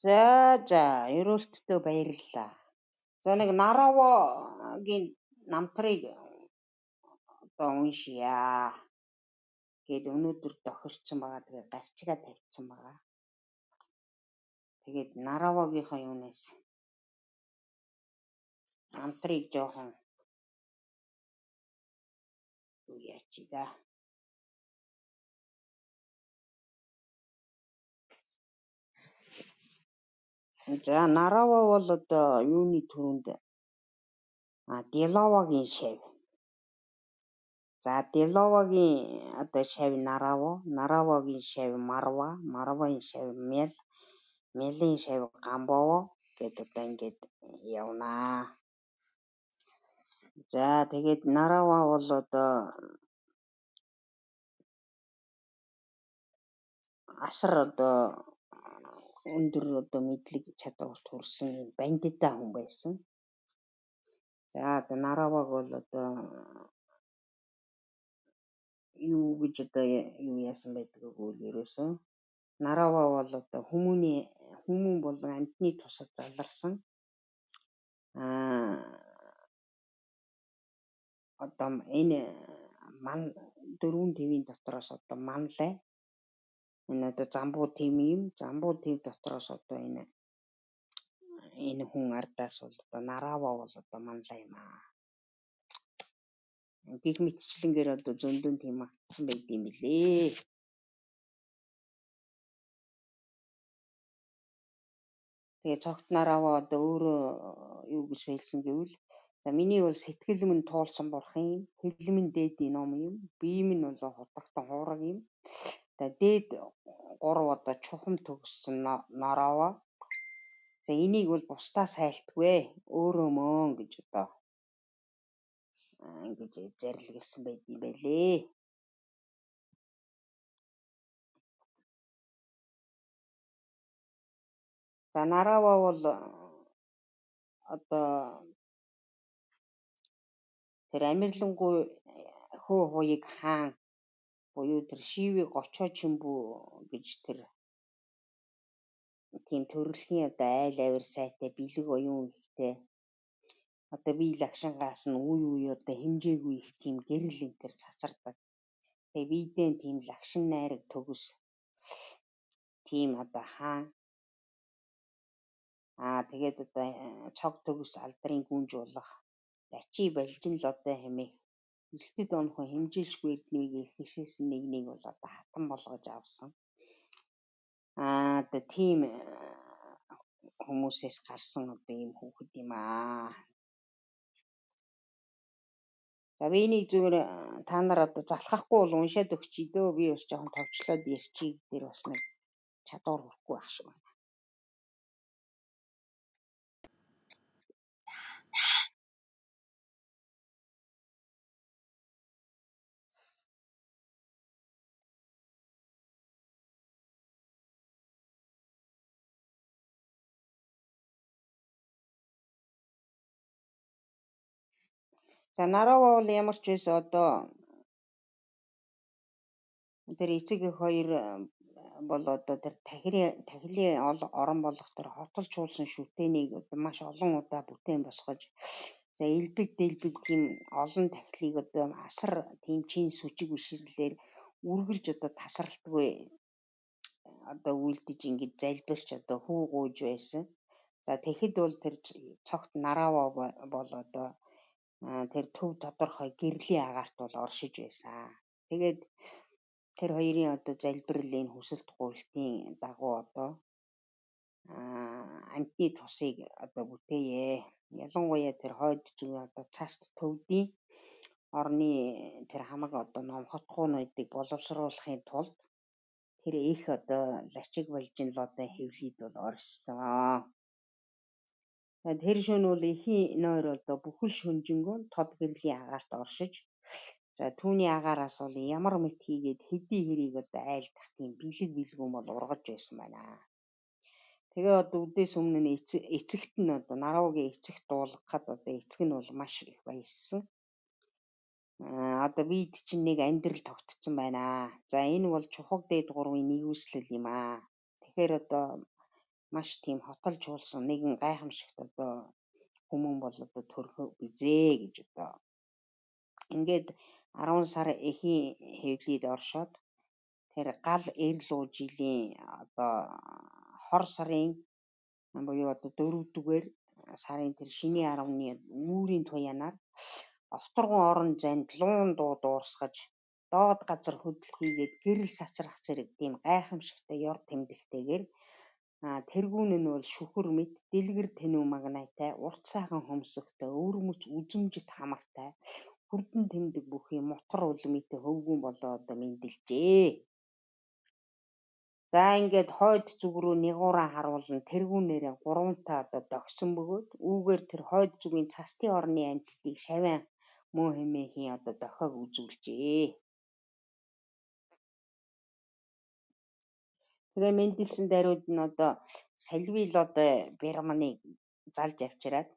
За ерөөлтдөө баярлалаа. За нэг Наравагийн намтрыг одоо уншия гэд өнөөдөр тохирсон байгаа. Тэгээ гарчгаа тавьчихсан байгаа. Тэгээд Наравагийнхаа юунаас намтрыг жоохон юу яач да. За Нарава бол одоо юуны төрөнд Делавагийн шав. За Делавагийн одоо шав Нарава, Наравагийн шав Марва, Марвагийн шав Мел, Мелийн шав Гамбово гэд одоо ингээд явнаа. За тэгээд Нарава бол одоо асар одоо өндөр одоо мэдлэг чадвар төрсэн бандита хүн байсан. За одоо Нараваг бол одоо юу гэж одоо юу яасан байдаг гэвэл ерөөсөө Нарава бол одоо хүмүүн болон амьтны тусад заларсан одоо энэ дөрвөн твийн дотроос одоо манлай энэ одоо замбуу тэм дотроос одоо энэ хүн ардаас бол одоо Нарава бол одоо манлай юм аа. Гэх мэтчлэнгээр одоо зөндөн тийм агтсан байд юм билээ. Тэгээ цогт Нарава одоо өөрөө юу гэж хэлсэн гэвэл за миний бол сэтгэл минь туулсан бурхан юм, хэл минь дээдийн ном юм, бие минь бол хотогтон хуураг юм. За дээд 3 одоо чухам төгссөн Нарава. За энийг бол бусдаас хайлтгүй өөрөө мөн гэж одоо ингэж зарлигсан байд юм байлээ. За Нарава бол одоо тэр Амирлангуй хөө хуйг хаан буюу тэр Шиви гочоо чимбүү гэж тэр тийм төрөлхийн одоо айл авир сайтай бэлэг оюун ихтэй одоо би лагшингаас нь үе одоо хэмжээгүй их тийм гэрэл энэ төр цацардаг. Тэгээ бидэн тийм лагшин найраг төгс тийм одоо хаан тэгээд одоо цог төгс алдрын гүнж болох лачи балжин л одоо хэмээх элтэд онхон хэмжээлшгүй эрдмийг ихшээс нэгнийг бол одоо хатан болгож авсан. Одоо тийм хүмүүсээс гарсан одоо ийм хүүхэд юм аа. За би энийг зүгээр та нар одоо залхахгүй бол уншаад өгчий дөө. Би бас жоохон товчлоод ярьчий дээр бас нэг чадвар хүрхгүй ах шиг байна. За Нарава бол ямар ч байсан одоо тэр эцэг эх хоёр бол одоо тэр тахилын орон болох тэр хотолчулсан шүтээнийг одоо маш олон удаа бүтээн босгож за элбэг дэлбэг тийм олон тахилыг одоо асар тийм чин сүжиг бишрлэлээр үргэлж одоо тасралтгүй одоо үлдэж ингэж залбирч одоо хүү гууж байсан. За тэгэхэд бол тэр цогт Нарава бол одоо тэр төв тодорхой гэрлийн агаарт бол оршиж байсан. Тэгээд тэр хоёрын одоо залбирлын хүсэлт гуйлтын дагуу одоо амьтны тусыг одоо бүтээе. Ялангуяа тэр хойд зүг одоо цаст төвдийн орны тэр хамаг одоо номхотгоонуудыг боловсруулахын тулд тэр их одоо лачиг балжин л одоо хэвлийд бол оршсон. Тэр шөнө бол эхийн нойр одоо бүхэл шөнжингөө тод гэрлийн агаарт оршиж за түүний агаараас бол ямар мэт хийгээд хэдий хэрийг одоо айлдах тийм бэлгүүн бол ургаж байсан байна. Тэгээ одоо үдээс өмнө нь эцэгт нь одоо Наравагийн эцэгт дуулгахад одоо эцэг нь бол маш их баяссан. Одоо бид чинь нэг амьдрал тогтцсон байна. За энэ бол чухал дээд 3-ын нэгүслэл юм аа. Тэгэхээр одоо маш тийм хотолж уулсан нэгэн гайхамшигт одоо хүмүүн бол одоо төрхөө бизээ гэж одоо ингээд 10 сар эхийн хэвлэлд оршоод тэр гал эрл жилийн одоо хор сарын буюу одоо 4-р сарын тэр шиний 10-ны үүрийн туяанаар овторгон орон зайд луун дуу дуурсгаж доод газар хөдөл хийгээд гэрэл сацрах зэрэг тийм гайхамшигтай ёр тэмдэгтэйгээр тэргүүн нь бол шүхэр мэт дэлгэр тэнүү магнайтай урт сайхан хөмсөгтэй өвөрмөц үзэмжит хамартай хүрдэн тэмдэг бүхий мотор үлмитэй хөвгүүн болоо одоо мэндэлжээ. За ингээд хойд зүг рүү нэгуураа харуулна тэргүүнээрээ 3-таа одоо догсон бөгөөд үүгээр тэр хойд зүгийн цастын орны амталтыг шавиан мөө хэмээхийн одоо дохиог үзүүлжээ. Тэгээ мэндэлсэн даруйд нь одоо салвил одоо Бирманыг залж авчираад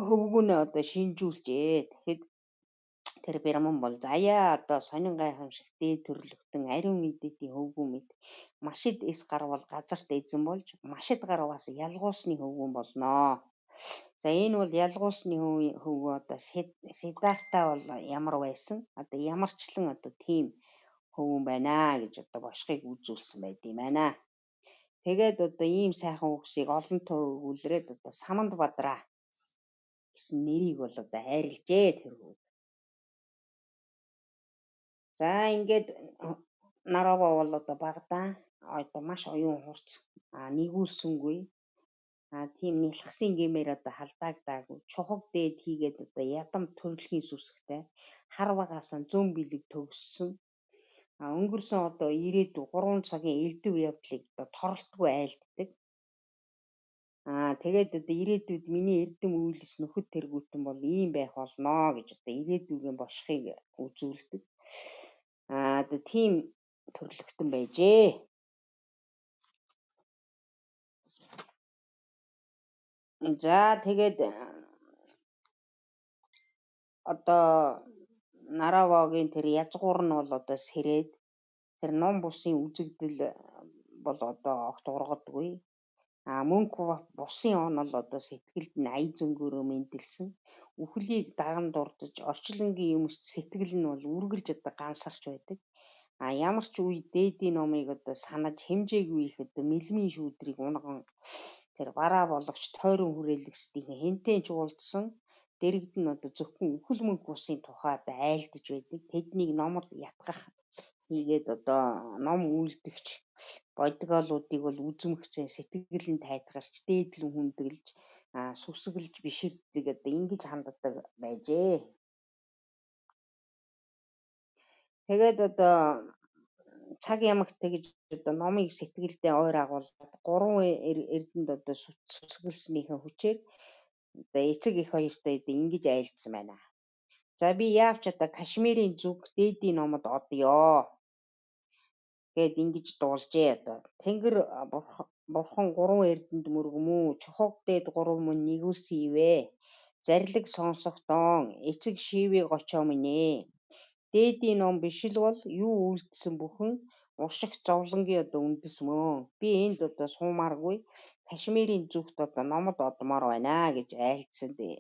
хөвгүүнээ одоо шинжүүлжээ. Тэгэхэд тэр Бирман бол заяа одоо сонин гайхамшигт дээд төрлөختөн ариун идэти хөвгүүн мэд машид эс гарвал газарт эзэн болж машид гарваас ялгуусны хөвгүүн болноо. За энэ бол ялгуусны хөвгүү одоо Сидарта бол ямар байсан? Одоо ямарчлан одоо тийм хөвгүүн байна гэж одоо бошгыг үзүүлсэн байт юм байна. Тэгээд одоо ийм сайхан үгсийг олонтоо өгүүлрээд одоо Саманд Бадраа гэсэн нэрийг бол одоо хайрлжээ тэр хөвгүүд. За ингээд Нарова бол одоо Багдаа одоо маш оюун хурц нэгүүлсэнгүй тийм нэлхсэн гэмээр одоо халдаагдаагүй чухаг дээд хийгээд одоо ядам төрөлхийн сүсгтэй хар багаасан зүүн бэлэг төгссөн өнгөрсөн одоо ирээдүй 3 цагийн элдв явдлыг одоо торолтгүй айлддаг. Тэгээд одоо ирээдүйд миний эрдэм үйлс нөхөд тэргүүтэн бол ийм байх болноо гэж одоо ирээдүйн бошхыг үзүүлдэг. Одоо тийм төрлөختөн байжээ. За тэгээд одоо Наравагийн тэр язгуур нь бол одоо сэрээд тэр ном бусын үзэгдэл бол одоо огт ургадгүй. Мөнх бусын онол одоо сэтгэлд нь ая зөнгөөрөө мэндэлсэн. Үхлийг даган дурдж орчлонгийн юмс сэтгэл нь бол үргэлж одоо гансарч байдаг. Ямар ч үе дээдийн номыг одоо санаж хэмжээгүй их одоо мэлмийн шүүдрийг унган тэр бараа болгоч тойрон хүрээлэгсдийн хэнтэн ч уулзсан дэрэгд нь одоо зөвхөн үхэл мөнх бусын тухайд айлдж байдаг. Тэднийг номод ятгах хийгээд одоо ном үйлдэгч бодголуудыг бол үзмгцэн сэтгэл нь тайтгарч дээдлэн хүндэглэж сүсгэлж биширддэг одоо ингэж ханддаг байжээ. Тэгээд одоо цаг ямагт тэгж одоо номыг сэтгэлдээ ойр агуулдаг 3 эрдэнд одоо сүсгэлснийхэн хүчээр одоо эцэг их хоёртой одоо ингэж айлдсан байна. За би яавч одоо Кашмирийн зүг дээдийн номод одё гэд ингэж дуулжээ одоо. Тэнгэр бурхан 3 эрдэнд мөргөмүү чухаг дээд 3 мөн нэгүүлсэн ивэ. Зарлиг сонсохдон эцэг шивийг очоо минь. Дээдийн ном биш л бол юу үйлдсэн бүхэн уршигт зовлонгийн одоо үндэс мөн. Би энд одоо суумааргүй Кашмирийн зүгт одоо номод одмоор байна гэж айлдсан дээ.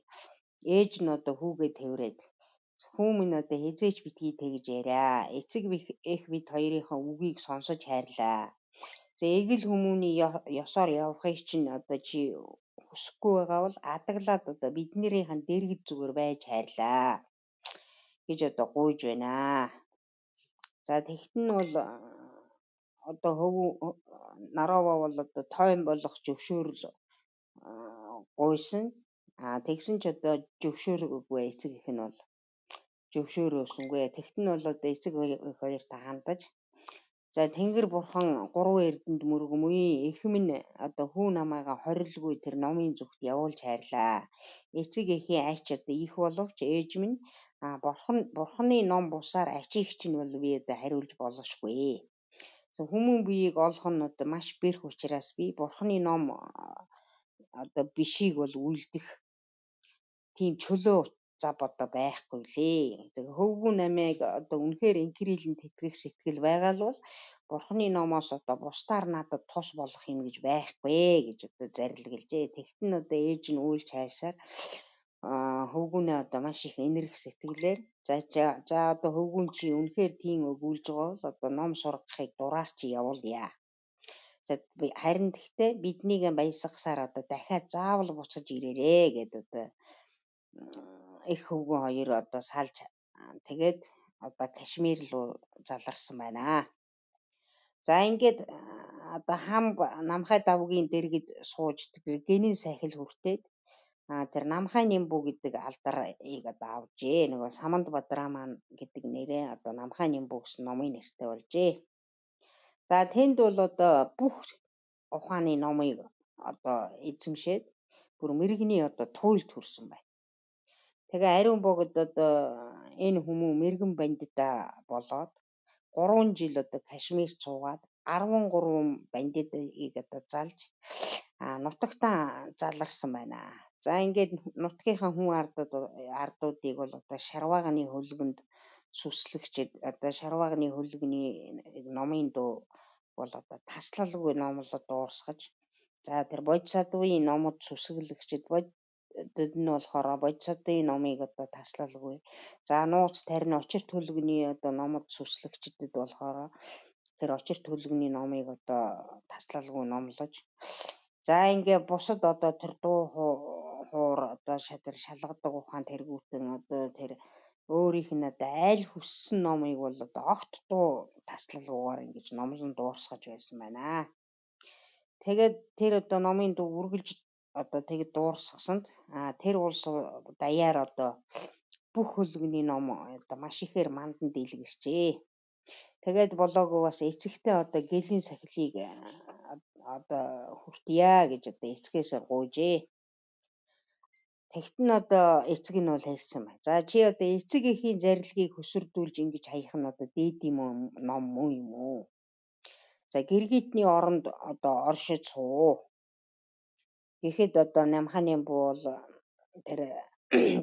Ээж нь одоо хүүгээ тэврээд хүү минь одоо хизээч битгий тэгж яриа. Эцэг их бид хоёрынхаа үгийг сонсож хайрлаа. За эгэл хүмүүний ёсоор явахыг чинь одоо чи хүсэхгүй байгаа бол адаглаад одоо биднэрийнхэн дэргэд зүгээр байж хайрлаа гэж одоо гуйж байна. За тэгтэн нь бол одоо Нарова бол одоо тойм болох зөвшөөрөл гуйсан. Тэгсэн ч одоо зөвшөөрөөгүй эцэг их нь бол зөвшөөрөөсөнгүй. Тэгтэн нь бол одоо эцэг хоёртой хандаж за Тэнгэр бурхан 3 эрдэнд мөргөмүй их минь одоо хүү намайга хорилгүй тэр номын зүгт явуулж хайрлаа. Эцэг эхийн ач одоо их боловч ээж минь бурханы ном бусаар ачийг чинь бол би одоо хариулж болохгүй. За хүмүүн биеийг олох нь одоо маш бэрх учраас би бурханы ном одоо бишийг бол үйлдэх тийм чөлөө зав одоо байхгүй лээ. Тэгээ хөвгүү намайг одоо үнэхээр инкрилэнд итгэх сэтгэл байгаа л бол Бурхны номоос одоо бусдаар надад тус болох юм гэж байхгүй гэж одоо зарлиглжээ. Тэгт нь одоо ээж нь үйлч хайшаар хөвгүүнээ одоо маш их энерги сэтгэлээр за одоо хөвгүүн чи үнэхээр тийм өгүүлж байгаа бол одоо ном сургахыг дураар чи явуулъя. За харин тэгтээ биднийг баясгасаар одоо дахиад заавал буцаж ирээрээ гэдэг одоо их хөвгөн хоёр одоо салж тэгээд одоо Кашмир руу заларсан байна. За ингээд одоо намхай давгийн дэргэд сууж гэнийн сахил хүртээд тэр намхай нимбүү гэдэг алдарыг одоо авжээ. Нөгөө Саманд Бадраман гэдэг нэрээ одоо намхай нимбүү гэсэн номын нэртэй болжээ. За тэнд бол одоо бүх ухааны номыг одоо эзэмшээд бүр мэрэгний одоо туйлд хүрсэн байна. Тэгээ ариун богд одоо энэ хүмүүс мэрэгэн бандита болоод 3 жил одоо Кашмир цуугаад 13 бандитыг одоо залж нутагтаа заларсан байна. За ингээд нутгийнхаа хүн ардуудыг бол одоо шарваагны хөлгөнд сүслэгчэд одоо шарваагны хөлгөний номын дуу бол одоо таслалгүй номлоод дуурсгаж за тэр бодисатвын номод сүсгэлэгчэд бодид нь болохоор бодисатвын номыг одоо таслалгүй. За нууц тарин очир төлгөний одоо номод сүслэгчдэд болохоор тэр очир төлгөний номыг одоо таслалгүй номлож за ингээ бусад одоо тэр дуу хуур одоо тэр шалгадаг ухаан тэргүүтэн одоо тэр өөрийнх нь одоо аль хүссэн номыг бол одоо огт дуу таслалгүйгээр ингэж номлон дуурсгаж байсан байна. Тэгээд тэр одоо номын дуу үргэлж одоо тэгэд дуурсгасанд тэр улс даяар одоо бүх хөлгөний ном одоо маш ихээр мандан дийлгэрчээ. Тэгээд болоогүй бас эцэгтэй одоо гэлийн сахилыг одоо хүртье гэж одоо эцгээсээ гуйжээ. Тэгт нь одоо эцэг нь бол хэлсэн байна. За чи одоо эцэг эхийн зарилгийг хөсөрдүүлж ингэж хаях нь одоо дээдийн ном муу юм уу? За гэргитний оронд одоо оршиж суу. Гэхэд одоо намханы бол тэр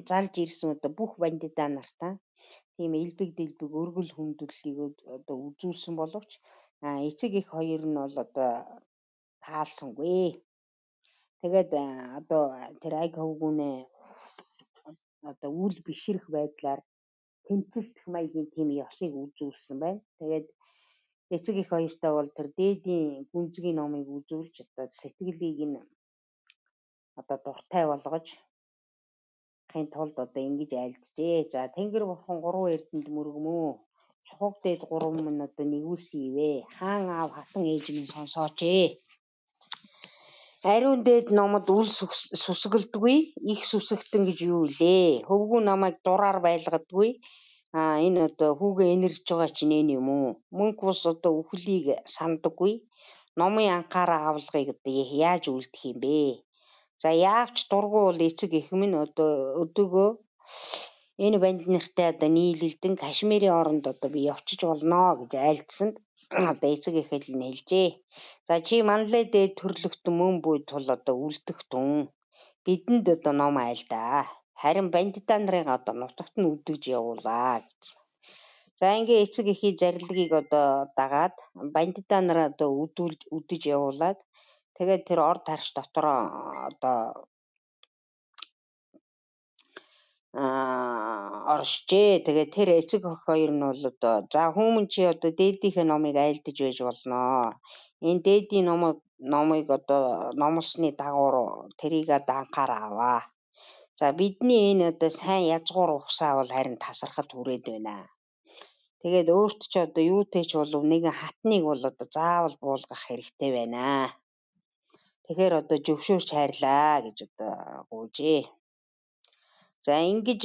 залж ирсэн одоо бүх бандита нартаа тийм элбэг дэлбэг өргөл хүндлэлийг одоо үзүүлсэн боловч эцэг их хоёр нь бол одоо таалсангүй. Тэгээд одоо тэр аг хөвгүүнээ одоо үл бишрэх байдлаар тэмцэлдэх маягийн тийм ёсыг үзүүлсэн байна. Тэгээд эцэг их хоёртаа бол тэр дээдийн гүнзгий номыг үзүүлж одоо сэтгэлийг нь одоо дуртай болгож хин тулд одоо ингэж айлджээ. За Тэнгэр бурхан 3 эрдэнд мөргмөө. Чухаг дээд 3 минь одоо нэгүүлсэн ивэ. Хаан аав хатан ээж минь сонсооч ээ. Ариун дээд номод үл сүсгэлдгүй их сүсэгтэн гэж юу илээ? Хөвгүү намайг дураар байлгадгүй. Энэ одоо хүүгээ энэрж байгаа чинь энэ юм уу? Мөнх бус одоо үхлийг сандаггүй. Номын анхаараа авлагыг одоо яаж үлдэх юм бэ? За яавч дургу бол эцэг их минь одоо өдөөгөө энэ банд нартай одоо нийлэлдэн Кашмирийн оронд одоо би явчих болно гэж айлдсанд одоо эцэг их хэл нь хэлжээ. За чи манлай дээд төрлөختөн мөн буй тул одоо үлдэх тун. Бидэнд одоо ном айлдаа. Харин бандита нарын одоо нутагт нь үдгэж явуулаа гэсэн. За ингээ эцэг эхийн зарилгийг одоо дагаад бандита нараа одоо үдэж явуулаад тэгээд тэр орд харш дотор одоо оршжээ. Тэгээд тэр эцэг өх хоёр нь бол одоо за хүмүүн чи одоо дээдийнхээ номыг айлдаж байж болно. Энэ дээдийн номыг одоо номлосны дагуур тэрийг одоо анхаараа аваа. За бидний энэ одоо сайн язгуур ухсаа бол харин тасархад хүрээд байна. Тэгээд өөрт ч одоо юутэй ч болов нэгэн хатныг бол одоо заавал буулгах хэрэгтэй байна. Тэгэхээр одоо зөвшөөрч хайрлаа гэж одоо гуйжээ. За ингэж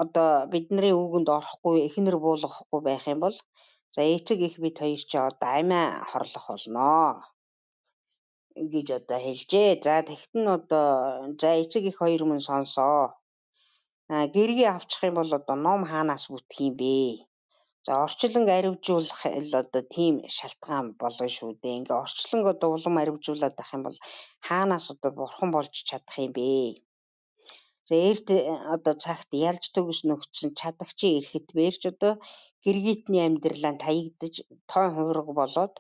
одоо бидний үгэнд орохгүй эхнэр буулгахгүй байх юм бол за эцэг их бид хоёр ч одоо амиа хорлох болно гэж одоо хэлжээ. За тэгт нь одоо за эцэг их хоёр мөн сонсоо. Гэргий авчих юм бол одоо ном хаанаас бүтэх юм бэ? За орчлон аривжуулах л одоо тийм шалтгаан болно шүү дээ. Ингээ орчлон одоо улам аривжуулаад ах юм бол хаанаас одоо бурхан болж чадах юм бэ? За эрт одоо цагт ялж төгс нөхцөн чадагчийн эрэхт бэрч одоо гэргитний амьдралаа таягдж тойн хувираг болоод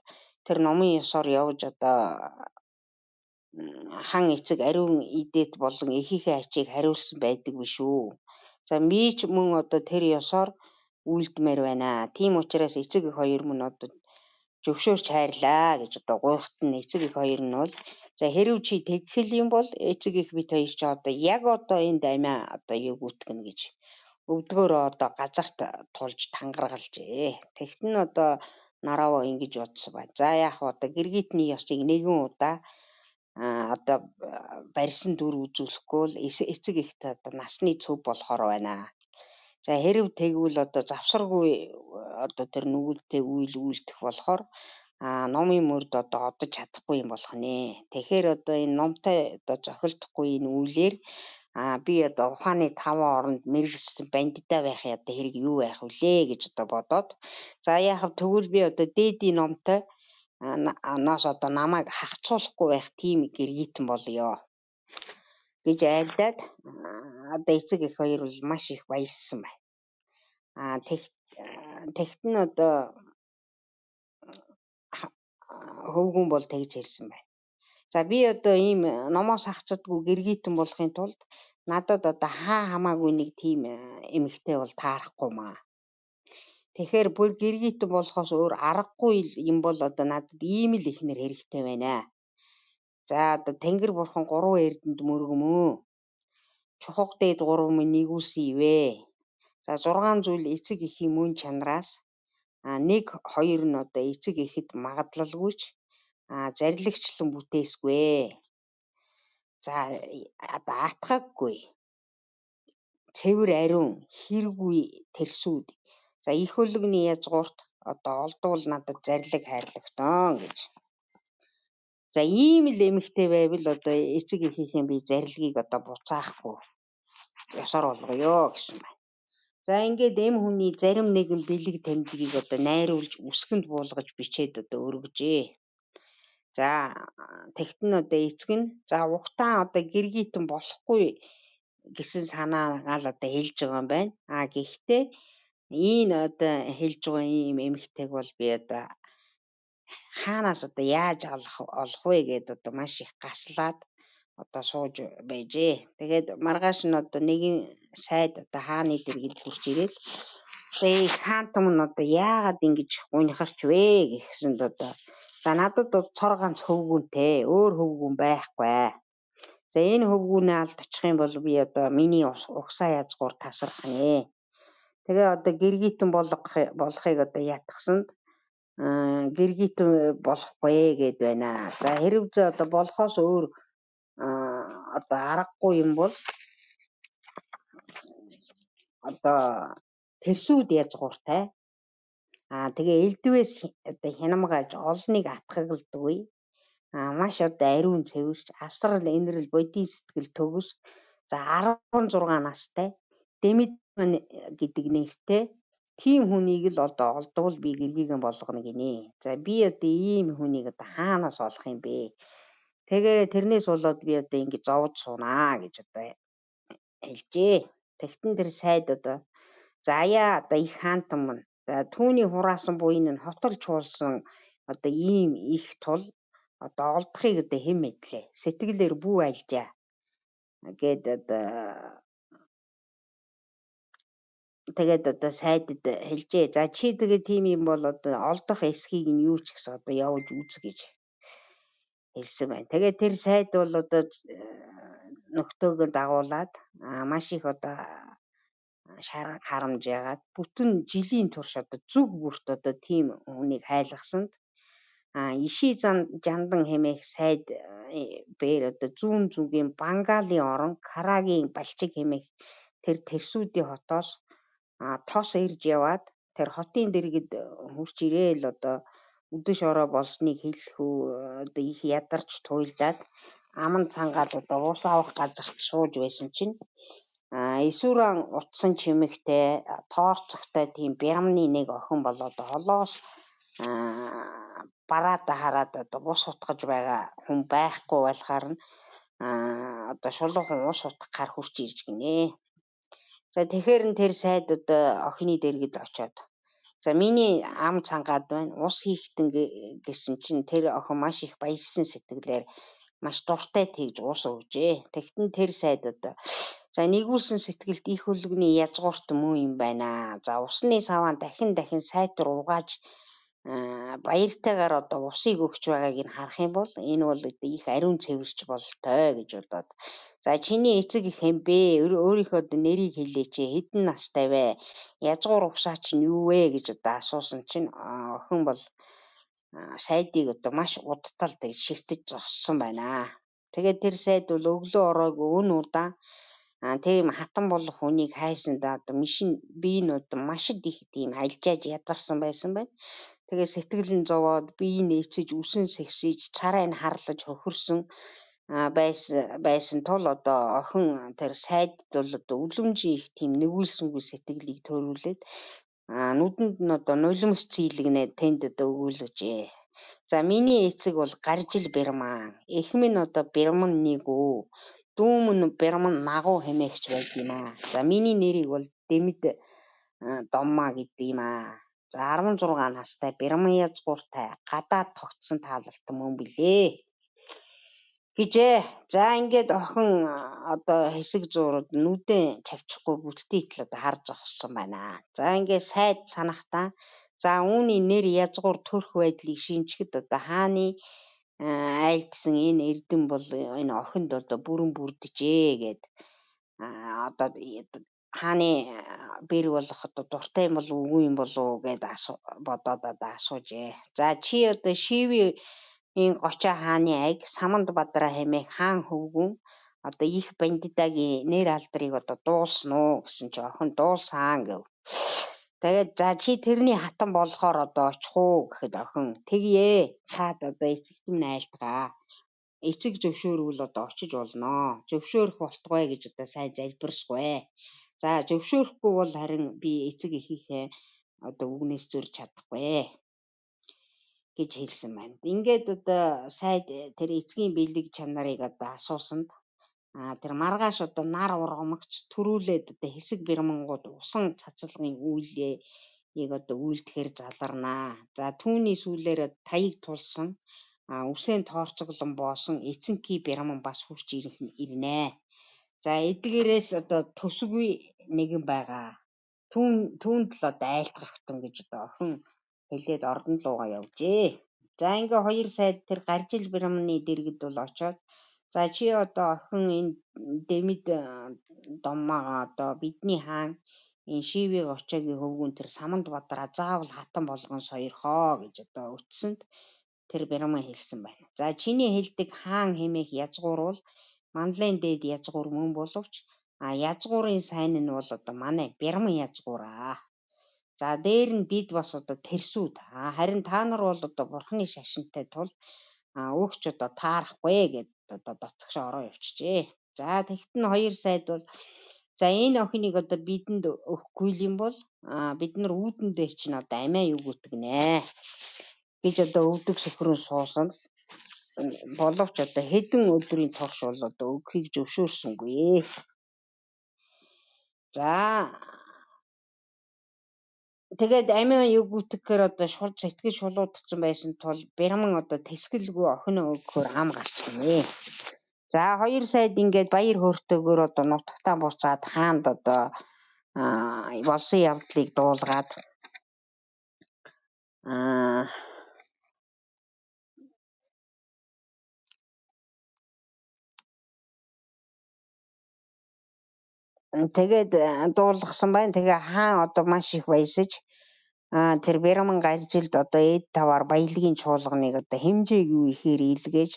тэр номын ёсоор явж одоо хан эцэг ариун идээд болон эхийнхээ ачийг хариулсан байдаг биш үү. За би ч мөн одоо тэр ёсоор үйлдмээр байна. Тийм учраас эцэг их хоёр мөн одоо зөвшөөрч хайрлаа гэж одоо гуйхт нь эцэг их хоёр нь бол за хэрв чи тэгхэл юм бол эцэг их бит хоёр ч одоо яг одоо энэ даймаа одоо юу гүтгэнэ гэж өвдгөөрөө одоо газарт тулж тангаргалжээ. Тэгт нь одоо нараваа ингэж бодсон байна. За яах вэ одоо гэргитний ёсыг нэгэн удаа одоо барьсан дүр үзүүлэхгүй л эцэг ихт одоо насны цөв болохоор байна. За хэрв тэгвэл одоо завсаргүй одоо тэр нүгэлтэй үйл үйлдэх болохоор номын мөрд одоо одож чадахгүй юм болох нэ. Тэгэхээр одоо энэ номтой одоо зохилдохгүй энэ үйлээр би одоо ухааны 5 оронд мэрэгсэн бандитаа байх одоо хэрэг юу байх вүлээ гэж одоо бодоод за яах вэ тэгвэл би одоо дээдийн номтой ноос одоо намайг хахацуулахгүй байх тийм гэргитэн болёо гэж айлдаад одоо эцэг их хоёр бол маш их баяссан байна. Тэгт нь одоо хөвгүн бол тэгж хэлсэн байна. За би одоо ийм номоос хахацдаггүй гэргитэн болохын тулд надад одоо хамаагүй нэг тийм эмэгтэй бол таарахгүй маа. Тэгэхээр бүр гэргитэн болохоос өөр аргагүй юм бол одоо надад ийм л ихнэр хэрэгтэй байна. За одоо Тэнгэр бурхан 3 эрдэнд мөргөмөө. Чухаг дээд 3 минь нэгүүлсэн ивэ. За 6 зүйл эцэг эхийн мөн чанараас 1 2 нь одоо эцэг эхэд магадлалгүйч зарлагчлан бүтээсгүй. За одоо атгаггүй. Цэвэр ариун хэрэггүй тэрсүүд. За их хөлөгний язгуурт одоо олдвол надад зарлиг хайрлагтан гэж. За ийм л эмэгтэй байвал одоо эцэг эхийнхээ би зарлигийг одоо буцаахгүй ёсоор болгоё гэсэн байна. За ингээд эм хүний зарим нэгэн бэлэг тамдгийг одоо найруулж үсгэнд буулгаж бичээд одоо өргөжээ. За тэгт нь одоо эцэг нь за ухтаа одоо гэргитэн болохгүй гэсэн санаагаа л одоо хэлж байгаа юм байна. Гэхдээ энэ одоо хэлж байгаа ийм эмэгтэйг бол би одоо хаанаас одоо яаж олох вэ гэдээ одоо маш их гаслаад одоо сууж байжээ. Тэгээд маргааш нь одоо нэгэн сайд одоо хааны дэргэд хурж ирээд хаантам нь одоо яагаад ингэж унихарч вэ гэхсэнд одоо за надад цор ганц хөвгүүнтэй өөр хөвгүүн байхгүй. За энэ хөвгүүнээ алдчих юм бол би одоо миний угсаа язгуур тасрах нэ. Тэгээ одоо гэргитэн болохыг одоо ятгсанд гэргитэн болохгүй гэд байна. За хэрв зэ одоо болохоос өөр одоо аргагүй юм бол одоо тэрсүүд язгууртай. Тэгээ элдвээс одоо хянамгааж олныг атгагладгүй. Маш одоо ариун цэвэрч асрал энэрл бодийн сэтгэл төгс. За 16 настай Дэмид гэдэг нэртэй тийм хүнийг л одоо олдвол би гэргийгэн болгоно гинэ. За би одоо ийм хүнийг одоо хаанаас олох юм бэ? Тэгээ тэрнээс болоод би одоо ингэ зовж суунаа гэж одоо хэлжээ. Тэгтэн тэр сайд одоо за яа одоо их хаантам мань. За түүний хураасан буйн нь хотолж хуулсан одоо ийм их тул одоо олдохыг одоо хэн мэдлээ. Сэтгэлээр бүү альжаа. Гэд одоо тэгээд одоо сайдд хэлжээ. За чи тэгээ тийм юм бол одоо олдох эсхийг нь юу ч гэсэн одоо явуулж үз гэж хэлсэн байна. Тэгээд тэр сайд бол одоо нөхтөөгөө дагуулад маш их одоо харамж яагаад бүтэн жилийн турш одоо зүг бүрт одоо тийм хүнийг хайлгасанд иши жандан хэмээх сайд бээр одоо зүүн зүгийн Бангалийн орон Карагийн балчиг хэмээх тэр тэрсүүдийн хотоос тос ирж яваад тэр хотын дэргэд хурч ирээл одоо үдэш ороо болсныг хэлэхүү одоо их ядарч туйлдаад аман цангаад одоо уус авах газарт сууж байсан чинь эсвэрэн утсан чимэгтэй тоорцогтой тийм бямны нэг охин болоод холоос бараада хараад одоо бус утгаж байгаа хүн байхгүй болохоор нь одоо шулуухан ус утгах гар хурч ирж гинэ. За тэгэхээр нь тэр сайд одоо охины дэргэд очоод за миний ам цангаад байна. Ус хийхтэн гэсэн чинь тэр охин маш их баярлсан сэтгэлээр маш дуртай тэгж ус өгжээ. Тэгтэн тэр сайд одоо за нэгүүлсэн сэтгэлд их хөлгөний язгуурт муу юм байна. За усны саваа дахин сайтар угааж баяртайгаар одоо усыг өгч байгааг нь харах юм бол энэ бол их ариун цэвэрч болтой гэж бодоод за чиний эцэг их юм бэ? Өөрийнхөө нэрийг хэлээч. Хэдэн настай вэ? Язгуур усаа чинь юу вэ гэж одоо асуусан чинь охин бол сайдыг одоо маш удтал гэж шивтэж зогссон байна. Тэгээд тэр сайд бол өглөө ороогүй өн удаан тийм хатан болох хүнийг хайсандаа одоо би нь одоо маш их тийм альжааж ядарсан байсан байна. Тэгээ сэтгэл нь зовоод бие нээцэж үсэн сэгсэж царай нь харлаж хөхөрсөн байсан тул одоо охин тэр сайд бол одоо үлэмжийн их тийм нэгүүлсэнгүй сэтгэлийг төрүүлээд нүдэнд нь одоо нулимс цийлэгнээ тэнд одоо өгүүлжээ. За миний эцэг бол гаржил бэрман. Эх минь одоо бэрман нэг үү. Дүүм нь бэрман нагуу хэмээгч байд юм аа. За миний нэрийг бол Дэмэд Домма гэдэг юм аа. За 16 настай бэрман язгууртай гадаад тогтсон таалалтан мөн билээ гэжээ. За ингээд охин одоо хэсэг зуурууд нүдэн чавчихгүй бүтээтэл одоо харж зогссон байна. За ингээд сайд санахтаа за үүний нэр язгуур төрх байдлыг шинжгэд одоо хааны айлдсан энэ эрдэм бол энэ охинд одоо бүрэн бүрдэжээ гэд одоо хааны бэр болох одоо дуртай юм бол үгүй юм болов гэд бодоод одоо асуужээ. За чи одоо шивийн гочоо хааны аяг Саманд Бадраа хэмээх хаан хөвгүн одоо их бандитагийн нэр алдрыг одоо дуулсан уу гэсэн чи охин дуулсан гэв. Тэгээд за чи тэрний хатан болохоор одоо очих уу гэхэд охин тэгье. Хаад одоо эцэгт минь айлтгаа. Эцэг зөвшөөрвөл одоо очиж болно. Зөвшөөрөх болтугай гэж одоо сайн залбирсгүй. За зөвшөөрөхгүй бол харин би эцэг эхийнхээ одоо үгнээс зөрж чадахгүй гэж хэлсэн байна. Ингээд одоо сайд тэр эцгийн бэлэг чанарыг одоо асуусанд тэр маргааш одоо нар ургамагч төрүүлээд одоо хэсэг бэрмангууд усан цацалгын үйлийг одоо үйлдэхээр заларнаа. За түүний сүүлээр таяг тулсан үсээн тоорцоглон боосон эцэнки бэрман бас хурч ирнэ. За эдгээрээс одоо төсгүй нэгэн байгаа. Түүнд л одоо айлтгахтан гэж одоо охин хэлээд ордон руугаа явжээ. За ингээ хоёр сайд тэр гаржил бэрманы дэргэд бол очоод за чи одоо охин энэ Дэмэд Доммаага одоо бидний хаан энэ шивийг очоогийн хөвгүн тэр Саманд Бадраа заавал хатан болгон сойрхоо гэж одоо өтсөнд тэр бэрман хэлсэн байна. За чиний хэлдэг хаан хэмээх язгуур бол манлайн дээд язгуур мөн боловч язгуурын сайн нь бол одоо манай бэрман язгуураа. За дээр нь бид бас одоо тэрсүүд. Харин та нар бол одоо бурхны шашинтай тул өгч одоо таарахгүй гэд одоо дотгош ороо явчихжээ. За тэгтэн хоёр сайд бол за энэ охиныг одоо бидэнд өгөхгүй юм бол бид нар үүдэн дээр чинь одоо амиа юу гүтгэнэ гэж одоо өвдөг сөхрөн суусан боловч одоо хэдэн өдрийн турш бол одоо өгөхийг зөвшөөрсөнгүй. За тэгээд амиа юу гүтгэхээр одоо шууд сэтгэж шулуудсан байсан тул бэрман одоо тэсгэлгүй охиноо өгөхөөр ам гарч гинэ. За хоёр сайд ингээд баяр хөөртэйгээр одоо нутагтаа буцаад хаанд одоо болсон явдлыг дуулгаад тэгээд дуулгасан байна. Тэгээ хаан одоо маш их баясаж тэр бэрман гаржилд одоо эд таваар баялагын чуулганыг одоо хэмжээгүй ихээр илгээж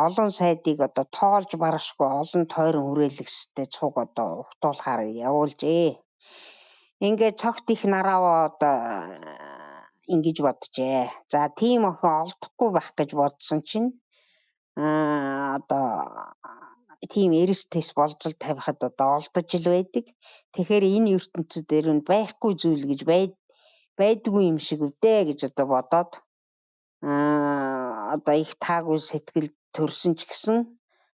олон сайдыг одоо тоолж барашгүй олон тойрон хүрээлэгстэй цуг одоо ухтуулахаар явуулжээ. Ингээд цогт их нарааваа одоо ингэж боджээ. За тийм охин олдохгүй байх гэж бодсон чинь одоо тийм эрс тэс болжл тавихад одоо олдож л байдаг. Тэгэхээр энэ ертөнцид дээр нь байхгүй зүйл гэж байдгүй юм шиг үдэ гэж одоо бодоод одоо их таагүй сэтгэл төрсөн ч гэсэн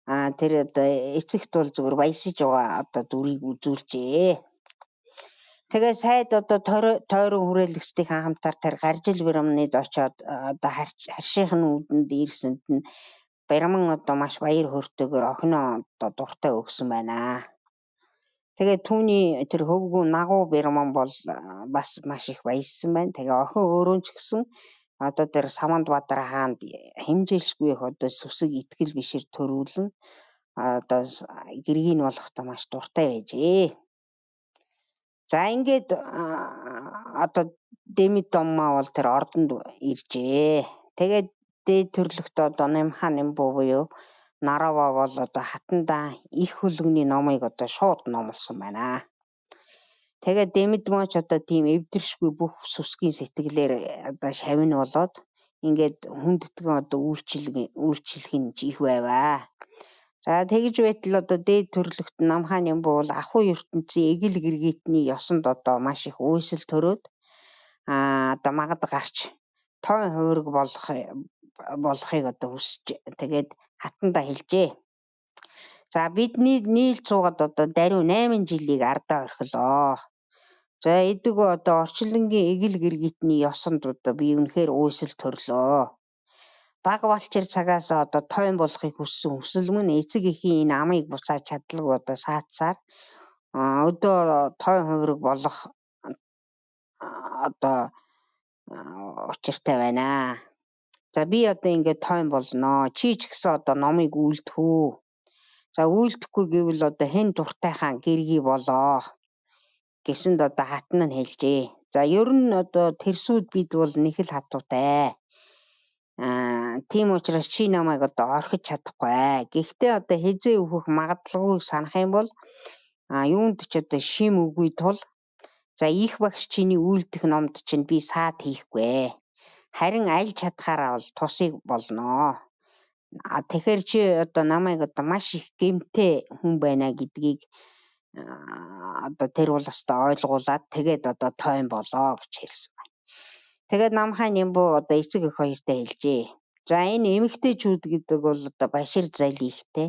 тэр одоо эцэгт бол зүгээр баясаж байгаа одоо дүрийг үзүүлжээ. Тэгээ сайд одоо тойрон хүрээлэгчдийн хамтаар тэр гаржил Бямнад очоод одоо харшийнх нь үүдэнд ирсэнд нь Бяман одоо маш баяр хөөртэйгээр охиноо одоо дуртай өгсөн байна. Тэгээ түүний тэр хөвгүү нагуу Бяман бол бас маш их баяссан байна. Тэгээ охин өөрөө ч гэсэн одоо тэр Самандбаатар хаанд хэмжээлшгүй их одоо сүсэг итгэл бишэр төрүүлэн одоо гэргийг болохтой маш дуртай байжээ. За ингээд одоо Демидомма бол тэр ордонд иржээ. Тэгээд дээд төрлөخت одоо Намхан Нимбу буюу Нарава бол одоо хатандаа их хөлгөний номыг одоо шууд номлосон байна. Тэгээд Демидмоч одоо тийм эвдэршгүй бүх сүсгийн сэтгэлээр одоо шавин болоод ингээд хүндэтгэн одоо үйлчлэх нь их байваа. За тэгж байтал одоо дээд төрлөخت Намхан Нимбу бол ахуй ертөнцийн эгэл гэргитний ёсонд одоо маш их үйсэл төрөөд одоо магад гарч тойн хувирг болохыг одоо хүсэж тэгээд хатандаа хэлжээ. За бидний нийлж суугаад одоо даруй 8 жилийг ардаа орхилоо. За эдгөө одоо орчлонгийн эгэл гэргитний ёсонд одоо би үнэхээр үйсэл төрлөө. Баг балчир цагаас одоо тойн болохыг хүссэн хүсэл мөн эцэг эхийн энэ амыг буцааж чадлагүй одоо саацсаар өдөө тойн хувирг болох одоо учиртай байна. За би одоо ингээд тойн болно. Чи ч гэсэн одоо номыг үйлдэх үү. За үйлдэхгүй гэвэл одоо хэн дуртайхаа гэргий болоо гэсэнд одоо хатан нь хэлжээ. За ер нь одоо тэрсүүд бид бол нэг л хатуутай. Тийм учраас чи намайг одоо орхиж чадахгүй. Гэхдээ одоо хизээ өөхөх магадлалгүй санах юм бол юунд ч одоо шим үгүй тул за их багш чиний үйлдэх номд чинь би саад хийхгүй. Харин аль чадхаараа бол тусыг болноо. Тэгэхээр чи одоо намайг одоо маш их гэмтэй хүн байна гэдгийг одоо тэр улстай ойлгуулад тэгээд одоо тойн болоо гэж хэлсэн байна. Тэгээд Намхан Нимбу одоо эцэг эх хоёртой хэлжээ. За энэ эмэгтэйчүүд гэдэг бол одоо башир залихтэй.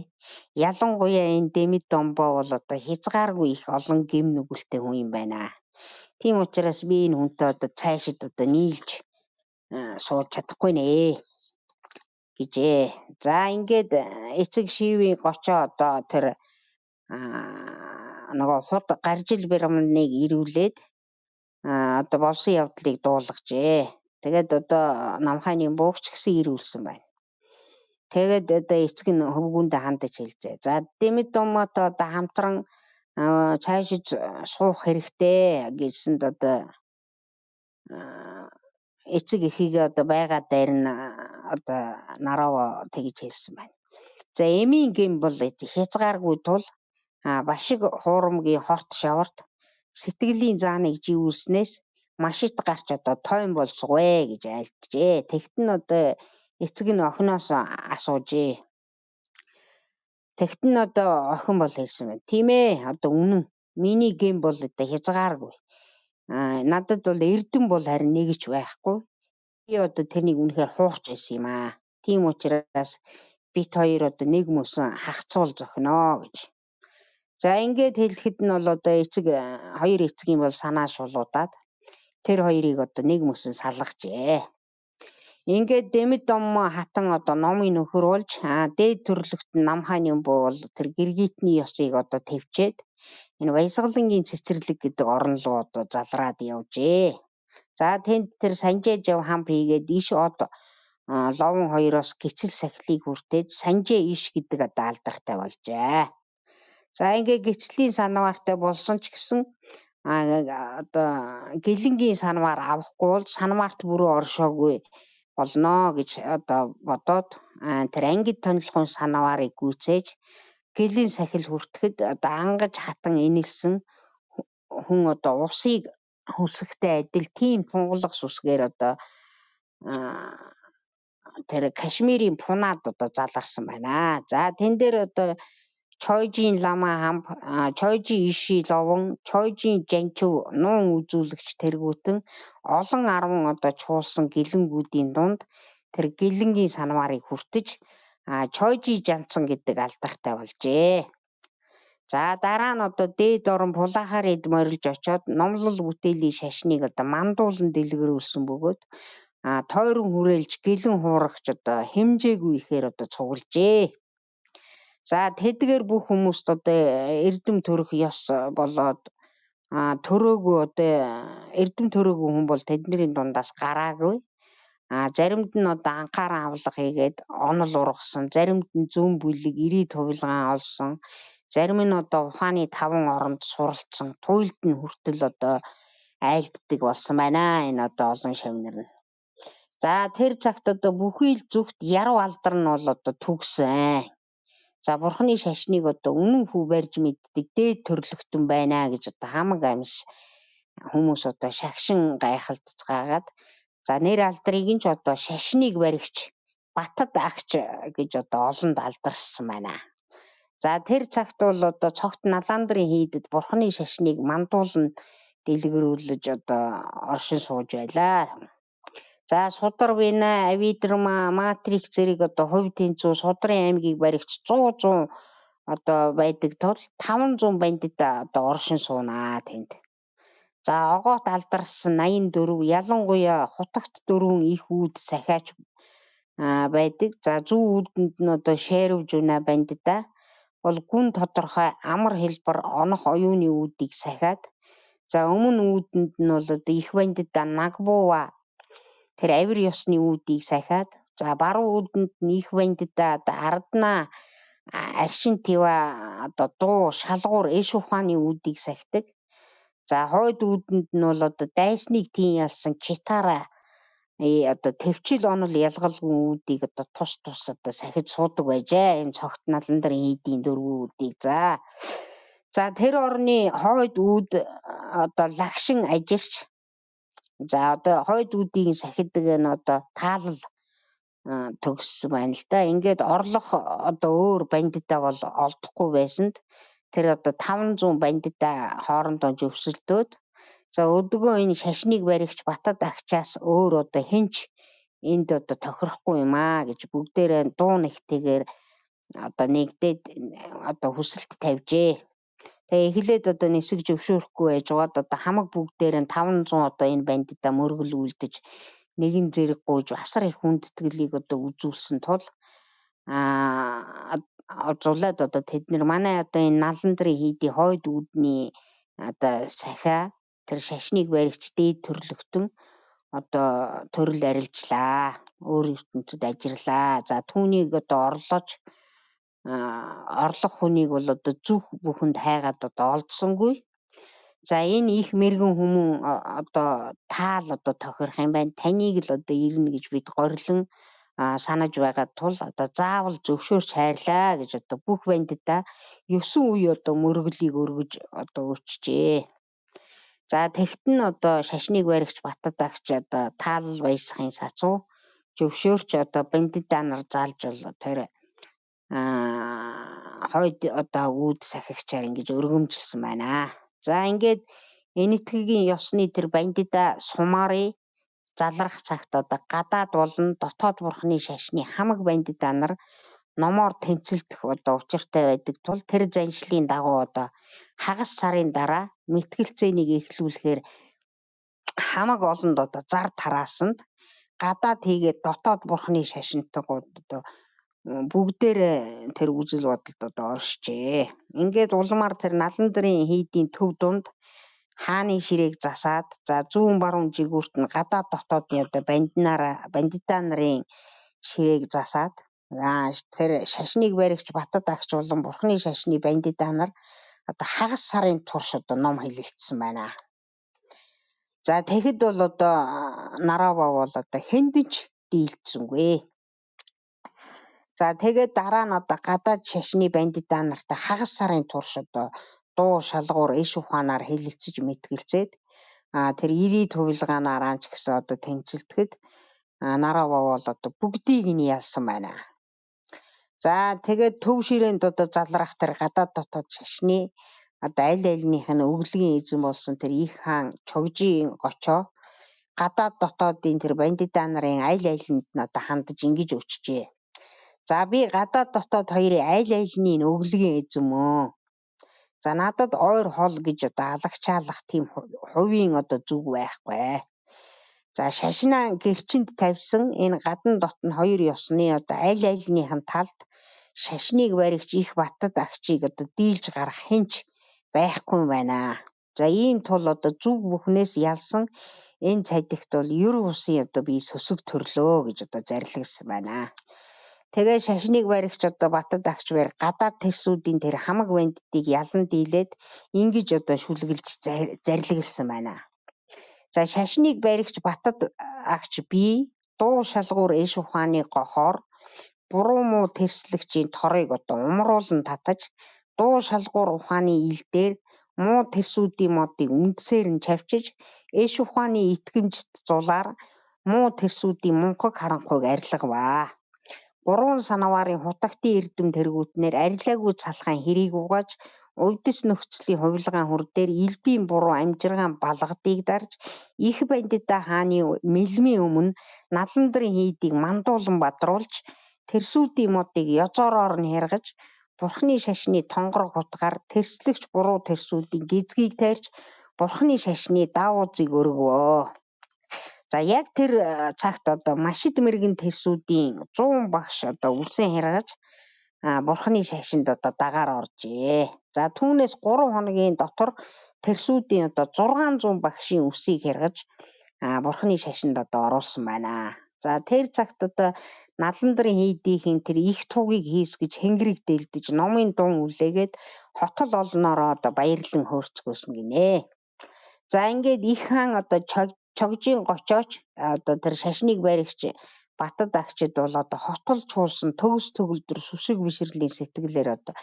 Ялангуяа энэ Демидомбо бол одоо хязгааргүй их олон гэм нүгэлтэй хүн юм байна. Тийм учраас би энэ хүнтэй одоо цаашид одоо нийлж сууж чадахгүй нэ гэжээ. За ингээд эцэг шивийн гочоо одоо тэр нөгөө худ гаржил Бямныг ирүүлээд одоо болсон явдлыг дуулгажээ. Тэгээд одоо Намхан Нимбуг ч гэсэн ирүүлсэн байна. Тэгээд одоо эцэг нь хөвгүүндээ хандаж хэлжээ. За Демидоммотой одоо хамтран цаашид суух хэрэгтэй гэсэнд одоо эцэг эхийгээ одоо байгаа дайрн одоо Нарава тэгж хэлсэн байна. За эмийн гэм бол хязгааргүй тул башиг хуурамгийн хорт шаварт сэтгэлийн зааныг живүүлснээс машит гарч одоо тойн болцгоё гэж айлтжээ. Тэгт нь одоо эцэг нь охиноос асуужээ. Тэгт нь одоо охин бол хэлсэн байна. Тийм ээ, одоо үнэн. Миний гэм бол одоо хязгааргүй. Надад бол эрдэм бол харин нэг ч байхгүй. Би одоо тэрнийг үнэхээр хуурч байсан юм аа. Тийм учраас бит хоёр одоо нэг мөсөн хагцуул зохино гэж. За ингээд хэлэхэд нь бол одоо хоёр эцгийн бол санаа шулуудаад тэр хоёрыг одоо нэг мөсөн салгажээ. Ингээд Демидоммо хатан одоо номын нөхөр болж дээд төрлөخت Намхан Нимбу бол тэр гэргитний ёсыг одоо төвчээд энэ Баясгалангийн цэцэрлэг гэдэг орон руу одоо залраад явжээ. За тэнд тэр Санжээ жав хамт хийгээд иш од ловон хоёроос гисэл сахилыг хүртээд Санжээ иш гэдэг одоо алдартай болжээ. За ингээ гислийн санваартай болсон ч гэсэн одоо гэлэнгийн санваар авахгүй бол санваарт бүрөө оршоогүй болно гэж одоо бодоод тэр ангид тонилхон санваарыг гүйцээж гэлэн сахил хүртэхэд одоо ангаж хатан энэлсэн хүн одоо усыг хүсэхтэй адил тийм тунгалаг сүсгээр одоо тэр Кашмирийн пунаад одоо заларсан байна. За тэн дээр одоо Чойжийн лама хамб, Чойжийн иши ловон, Чойжийн жанчив нуун үзүүлэгч тэргүүтэн олон 10 одоо чуулсан гэлэнгүүдийн дунд тэр гэлэнгийн санваарыг хүртэж Чойжи жанцсан гэдэг алдартай болжээ. За дараа нь одоо дээд орон пулахаар эд морилж очоод номлол бүтээлийн шашныг одоо мандуулан дэлгэрүүлсэн бөгөөд тойрон хүрээлж гэлэн хуурагч одоо хэмжээгүй ихээр одоо цуглжээ. За тэдгээр бүх хүмүүст одоо эрдэм төрөх ёс болоод төрөөгүй одоо эрдэм төрөөгүй хүн бол тэдний дундаас гараагүй. Заримд нь одоо анхааран авлага хийгээд онол ургасан, заримд нь зүүн бүлэг ирээ тувилгаан олсон, зарим нь одоо ухааны 5 оронд суралцсан, туйлд нь хүртэл одоо айлддаг болсон байна. Энэ одоо олон шавнар нь. За тэр цагт одоо бүхий л зүгт яруу алдар нь бол одоо түгсэн. За бурхны шашныг одоо үнэн хүү барьж мэддэг дээд төрлөختөн байна гэж одоо хамаг амьс хүмүүс одоо шагшин гайхалцгаагаад за нэр алдрыг нь ч одоо шашныг баригч Батад агч гэж одоо олонд алдарсан байна. За тэр цагт бол одоо цогт налаандрын хийдэд бурхны шашныг мандуулан дэлгэрүүлж одоо оршин сууж байлаа. За Судар Вина, Авидрма, Матрикс зэрэг одоо хувь тэнцүү Судрын аймгийг баригч 100 одоо байдаг тул 500 бандит одоо оршин суунаа тэнд. За огоот алдарсан 84 ялангуяа хутагт 4 их үүд сахиач байдаг. За зүүн үүдэнд нь одоо Шээрв Жуна бандита бол гүн тодорхой амар хэлбэр онох оюуны үүдийг сахиад за өмнө үүдэнд нь бол одоо их бандита Нагбува тэр авир ёсны үүдийг сахиад за баруун үүдэнд нь их бандита одоо Ардна аршин тива одоо дуу шалгуур эш ухааны үүдийг сахидаг. За хойд үүдэнд нь бол одоо дайсныг тийм ялсан Читара одоо төвчл онол ялгалгүй үүдийг одоо тус одоо сахиж суудаг байжээ. Энэ цогт наландрын хийдийн дөрвөн үүдийг. За тэр орны хойд үүд одоо лагшин ажирч за одоо хойд үүдийг сахидаг нь одоо таалал төгссөн байна л да. Ингээд орлох одоо өөр бандита бол олдохгүй байсанд тэр одоо 500 бандита хоорондоо зөвсөлдөөд за өдгөө энэ шашныг баригч Батад агчаас өөр одоо хинч энд одоо тохирохгүй юм гэж бүгдээрээ дуу нэгтэйгээр одоо нэгдээд одоо хүсэлт тавьжээ. Тэгээ эхлээд одоо нисэг зөвшөөрөхгүй байжгаад одоо хамаг бүгдээрээ 500 одоо энэ бандита мөргөл үлдэж нэгэн зэрэг гуйж асар их хүндэтгэлийг одоо үзүүлсэн тул зулаад одоо тэд нар манай одоо энэ наландрын хийдийн хойд үүдний одоо сахиа тэр шашныг баригч дээд төрлөختөн одоо төрөл арилжлаа. Өөр ертөнцид ажиллаа. За түүнийг одоо орлох хүнийг бол одоо зүх бүхэнд хайгаад одоо олдсонгүй. За энэ их мэрэгэн хүмүүн одоо таал одоо тохирох юм байна. Таныг л одоо ирнэ гэж бид горилон санаж байгаа тул одоо заавал зөвшөөрч хайрлаа гэж одоо бүх бандита 9 үе одоо мөргөлийг өргөж одоо өчжээ. За тэгт нь одоо шашныг баригч Батад агч одоо таалал баясахын сацуу зөвшөөрч одоо бандита нар залж бол тэр хойд одоо үүд сахигчаар ингэж өргөмжилсөн байна. За ингээд энэтхэгийн ёсны тэр бандита сумари залрах цагт одоо гадаад болон дотоод бурхны шашны хамаг бандита нар номоор тэмцэлдэх одоо учиртай байдаг тул тэр заншлын дагуу одоо хагас сарын дараа мэтгэлцээнийг эхлүүлэхээр хамаг олонд одоо зар тараасанд гадаад хийгээд дотоод бурхны шашинтайгууд одоо бүгдээрээ тэр үзэл бодолд одоо оршжээ. Ингээд улмаар тэр наландрын хийдийн төв дунд хааны ширээг засаад за зүүн баруун жигүүрт нь гадаад дотоодны одоо бандита нарын ширээг засаад тэр шашныг баригч Батад агч болон бурхны шашны бандита нар одоо хагас сарын турш одоо ном хэлэлцсэн байна. За тэгэхэд бол одоо Нарава бол одоо хэндэж дийлдсэнгүй. За тэгээд дараа нь одоо гадаад шашны бандита нартай хагас сарын турш одоо дуу шалгуур эш ухаанаар хэлэлцэж мэтгэлцээд тэр ирээ тувилгаанаар ч гэсэн одоо тэмцэлдэхэд Нарава бол одоо бүгдийг нь ялсан байна. За тэгээд төв ширээнд одоо залрах тэр гадаад дотоод шашны одоо аль альнийх нь өвлөгийн эзэн болсон тэр их хаан Чогжийн гочоо гадаад дотоодын тэр бандита нарын аль альнд нь одоо хандаж ингэж өчжээ. За би гадаад дотоод хоёрын аль альний өглөгийн эзэмөө. За надад ойр хол гэж одоо алагчаалах тийм хувийн одоо зүг байхгүй. За шашнаа гэрчинд тавьсан энэ гадна дотн хоёр ёсны одоо аль альнийхэн талд шашныг баригч их баттад агчийг одоо дийлж гарах хинч байхгүй байна. За ийм тул одоо зүг бүхнээс ялсан энэ цадигт бол ер бусын одоо би сөсөг төрлөө гэж одоо зарлигсан байна. Тэгээ шашныг баригч одоо баттад агч барь гадаад тэрсүүдийн тэр хамаг бандтыг ялан дийлээд ингэж одоо шүлгэлж зарлигсан байна. За шашныг баригч баттад агч би дуу шалгуур эш ухааны гохоор буруу муу тэрслэгчийн торыг одоо умруулан татаж дуу шалгуур ухааны ил дээр муу тэрсүүдийн модыг үндсээр нь чавчиж эш ухааны итгэмжт зулаар муу тэрсүүдийн мунхаг харанхуйг арилгаваа. 3 санаварын хутагтын эрдэм тэргүүтнэр арилаагүй цалхайн хэрийг угааж өвдөс нөхцөлийн хувилгаан хүр дээр элбийн буруу амжиргаан балгадыг дарж их бандита хааны мэлмийн өмнө наландрын хийдийг мандуулан бадруулж тэрсүүдийн модыг ёзоороор нь хэргэж бурхны шашны тонгор хутгаар тэрслэгч буруу тэрсүүдийн гизгийг тайрч бурхны шашны даавуудыг өргөвөө. За яг тэр цагт одоо машид мэрэгэн тэрсүүдийн 100 багш одоо үлсэн хэргаж бурхны шашинд одоо дагаар оржээ. За түүнээс 3 хоногийн дотор тэрсүүдийн одоо 600 багшийн үсийг хэргаж бурхны шашинд одоо оруулсан байна. За тэр цагт одоо наландрын хийдийн тэр их тугийг хийсгэж хэнгэрэг дэлдэж номын дун үлээгээд хотол олноороо одоо баярлан хөөрцгөөсөн гинэ. За ингээд их хаан одоо чогжийн гочооч одоо тэр шашныг баригч баттад агчид бол одоо хотол чуулсан төгс төгөлдөр сүсэг бишрэлийн сэтгэлээр одоо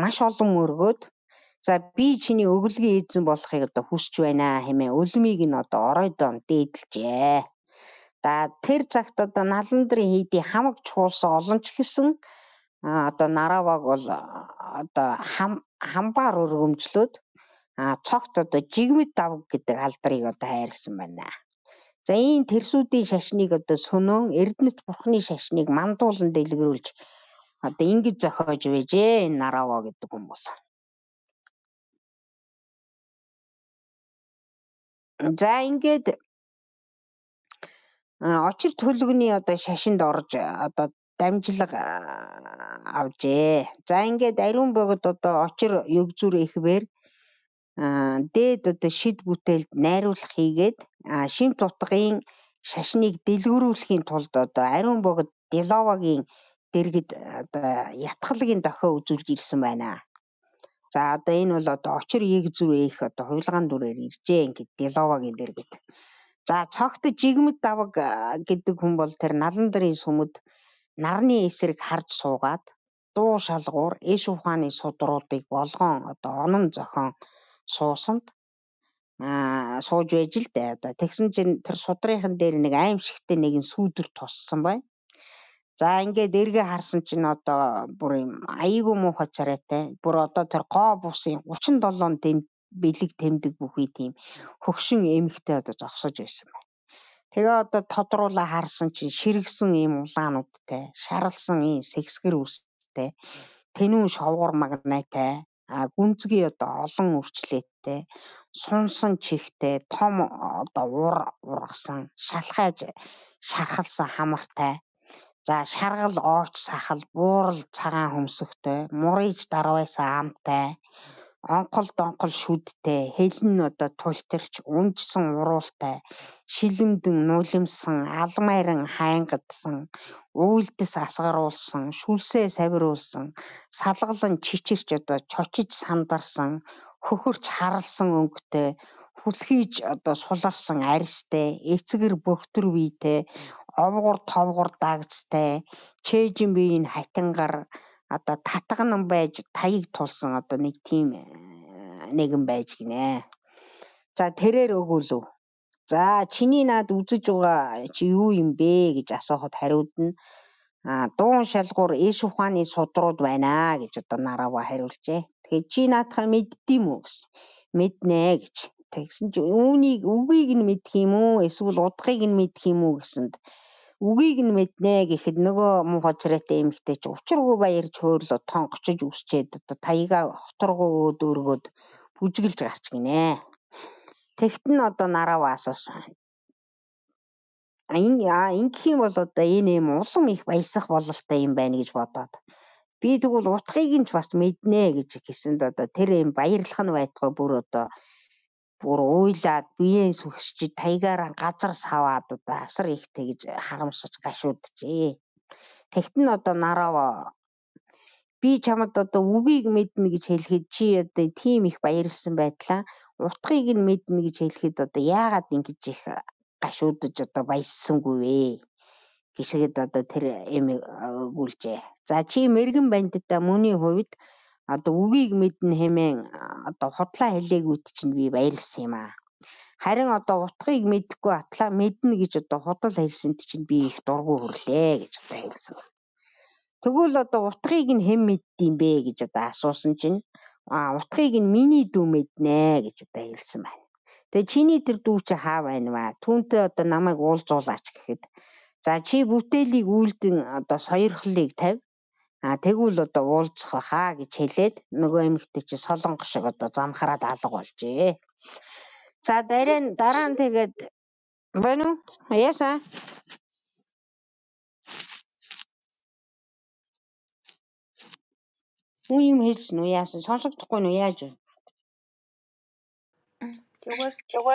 маш олон өргөөд за би чиний өглөгийн эзэн болохыг одоо хүсэж байна хэмээн өлмийг нь одоо оройдон дээдэлжээ. За тэр цагт одоо наландрын хийдийн хамаг чуулсан олон ч гэсэн одоо Нараваг бол одоо хамбаар өргөмжлөөд цогт одоо жигмэд давг гэдэг алдрыг одоо хайрлсан байна. За энэ тэрсүүдийн шашныг одоо сөнөөн Эрдэнэт бурхны шашныг мандуулан дэлгэрүүлж одоо ингэж зохиож байжээ энэ Нарава гэдэг хүмүүс. За ингээд очир төлөвний одоо шашинд орж одоо дамжлага авжээ. За ингээд ариун богод одоо очир өвзүр ихвэр дээд одоо шид бүтээлд найруулах хийгээд шимт утгын шашныг дэлгэрүүлэхийн тулд одоо ариун богод Деловагийн дэргэд одоо ятгалгийн дохио үзүүлж ирсэн байна. За одоо энэ бол одоо очир егзүр их одоо хувилгаан дүрээр иржээ ингээд Деловагийн дэргэд. За цогт жигмэд давг гэдэг хүн бол тэр наландрын сүмд нарны эсрэг харж суугаад дуу шалгуур эш ухааны судруудыг болгоон одоо онон зохион суусанд сууж байж л дээ. Одоо тэгсэн чинь тэр судрынхан дээр нэг аимшигтэй нэгэн сүүдэр туссан байна. За ингээд эргээ харсан чинь одоо бүр юм аяйгуу муухай царайтай. Бүр одоо тэр гоо бусын 37 бэлэг тэмдэг бүхий тийм хөгшин эмхтэй одоо зогсож байсан байна. Тэгээ одоо тодруулаа харсан чинь ширгсэн ийм улаануудтай, шаралсан ийм сэксгэр үстэй, тэнүүн шовгор магнайтай, гүнзгий одоо олон үрчлээтэй, сунсан чихтэй, том одоо ургасан, шалхайж шархалсан хамартай. За шаргал ooч сахал, буурал цагаан хөмсөгтэй, мурийж дарвайсан амтай, онкол донкол шүдтэй, хэлэн одоо тултирч, унжсан уруултай, шилэмдэн нулимсан, алмайран хайнгадсан, уйлдэс асгаруулсан, шүлсээ савируулсан, салгалан чичирч одоо чочиж сандарсан, хөхөрч харалсан өнгөтэй, хүлхийж одоо суларсан аристай, эцгэр бөхтөр бийтэй, овгор товгор дагцтай, чэжин биеийн хатингар одоо татган байж таяг тулсан одоо нэг тийм нэгэн байж гинэ. За тэрээр өгүүлв. За чиний наад үзэж байгаа чи юу юм бэ гэж асуухад хариуд нь дуун шалгуур эш ухааны судрууд байна гэж одоо Нарава хариулжээ. Тэгэхээр чи наадхаа мэддэм үү гэсэн. Мэднэ гэж. Тэгсэн чи үгийг нь мэдх юм уу эсвэл удгыг нь мэдх юм уу гэсэнд үгийг нь мэднэ гэхэд нөгөө муухай царайтай эмэгтэй чи учиргүй баярч хөөрлөө тонгочж үсчээд одоо таяга хоторгоо дөргөөд бүжгэлж гарч гинэ. Тэгт нь одоо нараваа асуусан. Ингэх юм бол одоо энэ юм улам их баясах бололтой юм байна гэж бодоод. Би тэгвэл утгыг нь ч бас мэднэ гэж хэлсэнд одоо тэр юм баярлах нь байтугай бүр уйлаад биеэн сүгсчиж таягаараа газар саваад одоо асар их тэгж харамсаж гашууджээ. Тэгт нь одоо нараваа би чамд одоо үгийг мэднэ гэж хэлэхэд чи одоо тийм их баярлсан байтлаа утгыг нь мэднэ гэж хэлэхэд одоо яагаад ингэж их гашуудж одоо баяссангүй вэ гэшгээд одоо тэр эмийг өгүүлжээ. За чи мэрэгэн бандитаа мөний хувьд одоо үгийг мэднэ хэмээн одоо худлаа хэлээгүйт чинь би баярлсан юм аа. Харин одоо утгыг мэдэхгүй атлаа мэднэ гэж одоо худал хэлсэнд чинь би их дургу хөрлөө гэж одоо хэлсэн. Тэгвэл одоо утгыг нь хэн мэддэм бэ гэж одоо асуусан чинь утгыг нь миний дүү мэднэ гэж одоо хэлсэн байна. Тэгээ чиний тэр дүү чи хаа байна вэ? Түүнтэй одоо намайг уулзуулаач гэхэд за чи бүтээлийг үйлдэн одоо сойрхлыг тавь. Тэгвэл одоо уулзах хаа гэж хэлээд нөгөө эмэгтэй чи солонгос шиг одоо замхраад алга болжээ. За дараа нь тэгээд байна уу? Яасан? Юу юм хэлсэн үү? Яасан? Сонсогдохгүй нь яаж вэ? Зүгээр.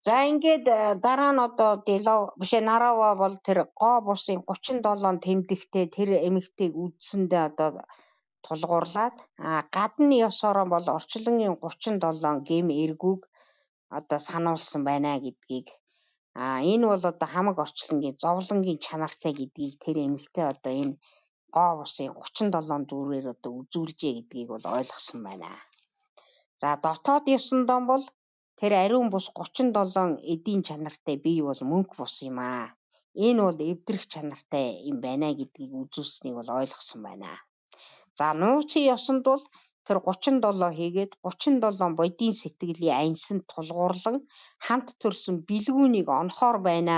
За ингээд дараа нь одоо Нараваа бол тэр гоо бусын 37 тэмдэгтэй тэр эмэгтэйг үдсэндээ одоо тулгуурлаад гадны ёсороо бол орчлонгийн 37 гэм эргүүг одоо сануулсан байна гэдгийг энэ бол одоо хамаг орчлонгийн зовлонгийн чанартай гэдгийг тэр эмэгтэй одоо энэ гоо бусын 37 дүүрээр одоо үзүүлжээ гэдгийг бол ойлгосон байна. За дотоод ёсондоо бол тэр ариун бус 37 эдийн чанартай бие бол мөнх бус юм аа. Энэ бол эвдрэх чанартай юм байна гэдгийг үзүүлсэнийг бол ойлгосон байна. За нууцын ёсонд бол тэр 37 хийгээд 37 бодийн сэтгэлийн аньсанд тулгуурлан хамт төрсөн бэлгүүнийг онохоор байна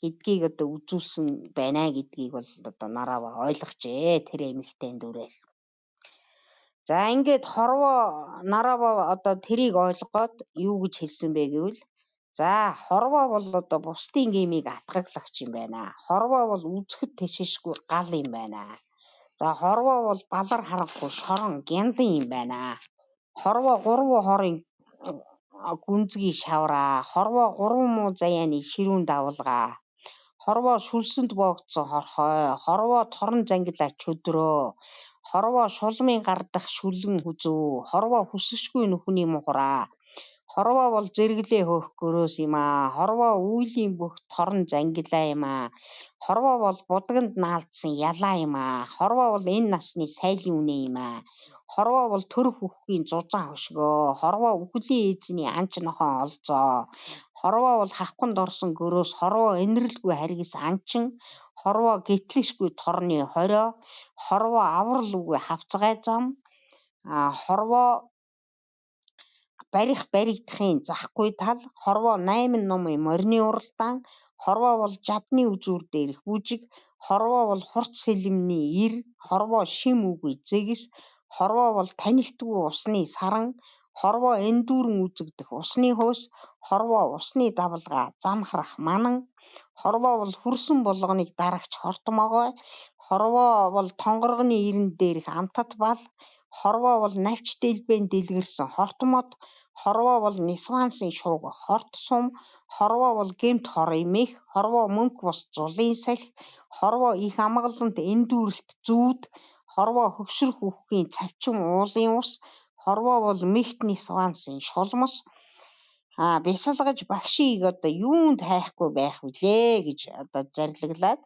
гэдгийг одоо үзүүлсэн байна гэдгийг бол одоо Нараваа ойлгожээ тэр эмэгтэй дүрээр. За ингээд Нараваа одоо тэрийг ойлгоод юу гэж хэлсэн бэ гэвэл за хорвоо бол одоо бусдын гэмийг атгаглагч юм байна. Хорвоо бол үзэхэд тэшишгүй гал юм байна. За хорвоо бол балар харахгүй шорон гяндан юм байна. Хорвоо 3 хорын гүнзгий шавраа. Хорвоо 3 муу заяаны ширүүн давлгаа. Хорвоо шүлсэнд боогдсон хорхой. Хорвоо торон зангилаа чөдрөө. Хорвоо шулмын гардах шүлэн хүзүү. Хорвоо хүсэшгүй нүхний мухраа. Хорвоо бол зэрэглээ хөөх гөрөөс юм аа. Хорвоо үйлийн бүх торон зангилаа юм аа. Хорвоо бол будагнд наалдсан ялаа юм аа. Хорвоо бол энэ насны сайлын үнэ юм аа. Хорвоо бол төрөх үхгийн зузаан хөшгөө. Хорвоо үхлийн эзний анч нохоо олзоо. Хорвоо бол хавханд орсон гөрөөс. Хорвоо энэрлгүй харгис анчин. Хорвоо гэтлэшгүй торны хорио. Хорвоо аврал үгүй хавцгай зам. Хорвоо барих баригдахын захгүй тал. Хорвоо 8 номын морины уралдаан. Хорвоо бол жадны үзүүр дээрх бүжиг. Хорвоо бол хурц сэлэмний ир. Хорвоо шим үгүй зэгс. Хорвоо бол танилтгүй усны саран. Хорвоо эндүүрэн үзэгдэх усны хөөс. Хорвоо усны давлгаа замхрах манан. Хорвоо бол хүрсэн болгоныг дарагч хортмогой. Хорвоо бол тонгоргоны ирэн дээрх амтат бал. Хорвоо бол навч дэлбэн дэлгэрсэн хортмод. Хорвоо бол нисвансын шууг хорт сум. Хорвоо бол гэмт хор имэх. Хорвоо мөнх бус зулын салхи. Хорвоо их амгалант эндүүрэлт зүүд. Хорвоо хөгшрөх үххийн цавчин уулын ус. Хорвоо бол мэгт нисвансын шулмас. Бясалгаж багшийг одоо юунд хайхгүй байх вүлээ гэж одоо зарлаглаад.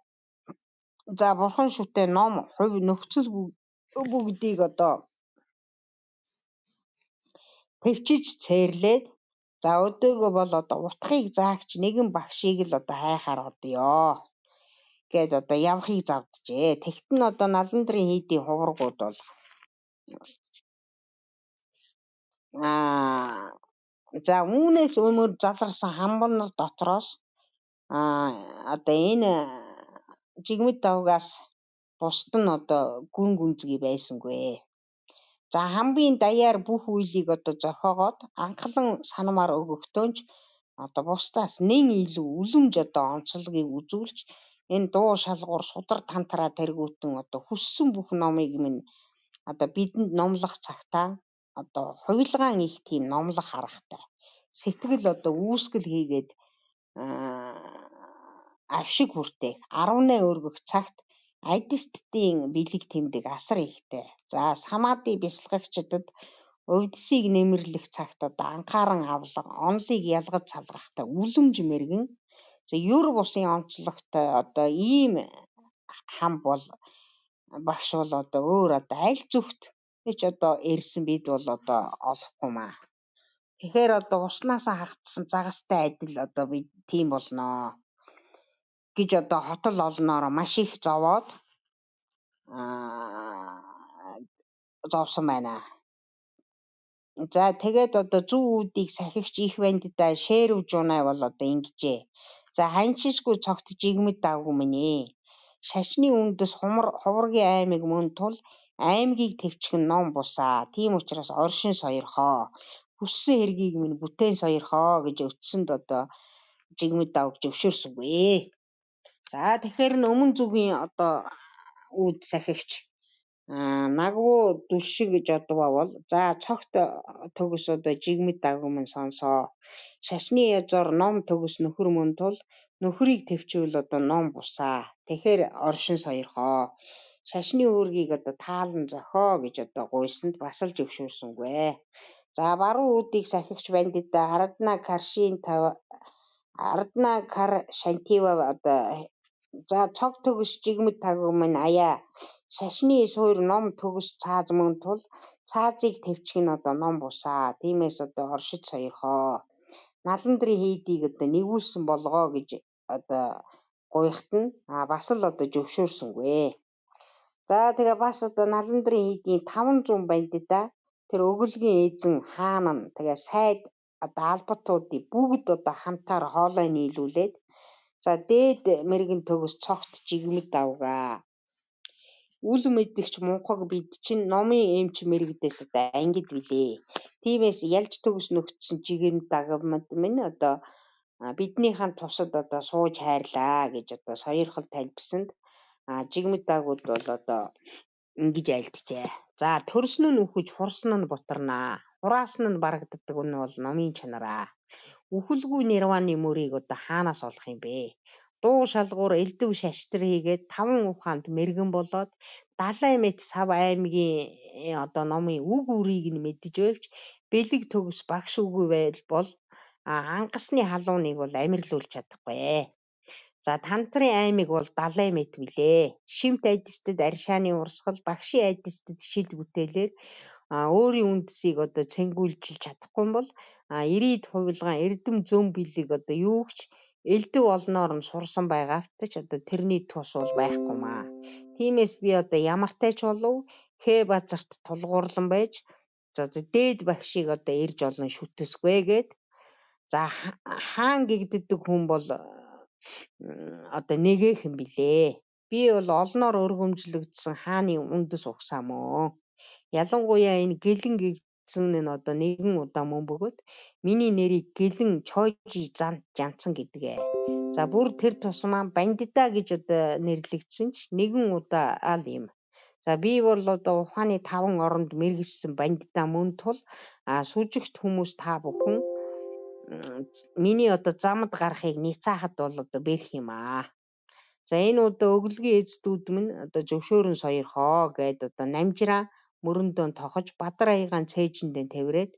За бурхан шүтээ ном хувь нөхцөл бүгдийг одоо төвчиж цээрлээд за өдөөгөө бол одоо утгыг заагч нэгэн багшийг л одоо хайхаар одё гэд одоо явахыг завджээ. Тэгт нь одоо Наландрын хийдийн хуврагууд бол За үүнээс өмнө заларсан хамбар нар дотроос одоо энэ жигмэд давгаас бусд нь одоо гүн гүнзгий байсангүй. За хамбын даяар бүх үйлийг одоо зохиогоод анхлан санамаар өгөхдөөч одоо бусдаас нэн илүү үлэмж одоо онцлогийг үзүүлж энэ дуу шалгуур судар тантраа тэргүүтэн одоо хүссэн бүх номыг минь одоо бидэнд номлох цагтаа одоо хувилгаан их тийм номлох харахтай. Сэтгэл одоо үүсгэл хийгээд авшиг хүртээх 18 өргөх цагт айдистын бэлэг тэмдэг асар ихтэй. За самади бясалгагчдад увдсыг нэмэрлэх цагт одоо анхааран авлага онлыг ялгаж салгахтай үлэмж мэргэн. За юр бусын онцлогтой одоо ийм хам бол багш бол одоо өөр одоо аль зүгт гэж одоо ирсэн бид бол одоо олохгүй маа. Тэгэхээр одоо уснасаа хагтсан загастай адил одоо би тийм болноо гэж одоо хотол олноор маш их зовоод зовсон байна. За тэгээд одоо зүү үүдийг сахигч их бандитаа шэрв жунаа бол одоо ингэжээ. За ханшисгүй цогт жигмэд давгүй минь ээ. Шашны үндэс хуваргийн аймаг мөн тул аймгийг төвчгөн ном бусаа. Тийм учраас оршин сойрхоо. Хүссэн хэргийг минь бүтээн сойрхоо гэж өтсөнд одоо жигмэд давг зөвшөөрсөнгүй. За тэгэхээр өмнө зүгийн одоо үүд сахигч нагвуу дүлшиг гэж одоо бол за цогт төгс одоо жигмэд давгын сонсоо. Шашны язор ном төгс нөхөр мөн тул нөхрийг төвчвөл одоо ном бусаа. Тэгэхээр оршин сойрхоо. Шашны үүргийг одоо таалан зохио гэж одоо гуйсанд бас л зөвшөөрсөнгүй. За баруун үүдийг сахигч бандита Арадна кар шантива одоо за цог төгс жигмэд тавгын аяа шашны суур ном төгс цааз мөн тул цаазыг төвчих нь одоо ном бусаа. Тиймээс одоо оршиж сойрхоо. Наландрын хийдийг одоо нэгүүлсэн болгоо гэж одоо гуйхт нь бас л одоо зөвшөөрсөнгүй. За тэгээ бас одоо наландрын хийдийн 500 бандита тэр өгөлгийн эзэн хаан нь тэгээ сайд одоо албатуудыг бүгд одоо хамтаар хоолой нийлүүлээд за дээд мэрэгэн төгс цогт жигмэд давгаа. Үл мэдгч мунхаг бид чинь номын эмч мэрэгдээс одоо ангид билээ. Тиймээс ялж төгс нөхцсөн жигмэд дагвмад минь одоо биднийхэн тусад одоо сууж хайрлаа гэж одоо сойрхол тайлбсанд жигмэд дагууд бол одоо ингэж айлтжээ. За төрсөн нь үхэж хурсан нь бутарнаа. Хураасан нь барагддаг нь бол номын чанараа. Үхэлгүй нирваны мөрийг одоо хаанаас олох юм бэ? Дуу шалгуур элдв шаштрын хийгээд 5 ухаанд мэрэгэн болоод 70 мэт сав аймгийн одоо номын үг үрийг нь мэдж байвч бэлэг төгс багш үгүй бол ангасны халууныг бол амирлуулж чадахгүй. За тантрын аймаг бол 70 мэт билээ. Шимт айдистад аршааны урсгал багшийн айдистад шид бүтээлээр өөрийн үндэсийг одоо цэнгүүлж чадахгүй бол ирээд хувилгаан эрдэм зөм бэлэг одоо юугч элдв олноор нь сурсан байгаавт ч одоо тэрний тус бол байхгүй маа. Тиймээс би одоо ямартай ч болов хэ базарт тулгуурлан байж за дээд багшийг одоо ирж олон шүтсгүй гээд за хаан гэгддэг хүн бол одоо нэгэхэн билээ. Би бол олноор өргөмжлөгдсөн хааны үндэс угсаа мөн. Ялангуяа энэ гэлэн гэгдсэн нь одоо нэгэн удаа мөн бөгөөд миний нэрийг гэлэн чойжи жанцсан гэдгээ. За бүр тэр тусмаа бандита гэж одоо нэрлэгдсэн ч нэгэн удаа ал юм. За би бол одоо ухааны 5 оронд мэргэжсэн бандита мөн тул сүжигт хүмүүс та бүхэн миний одоо замд гарахыг ницаахад бол одоо бэрх юм аа. За энэ удаа өглөгийн эздүүд минь одоо зөвшөөрөн сойрхоо гэд одоо намжраа мөрөндөө тохож Бадар аягаан цээжиндээ тавираад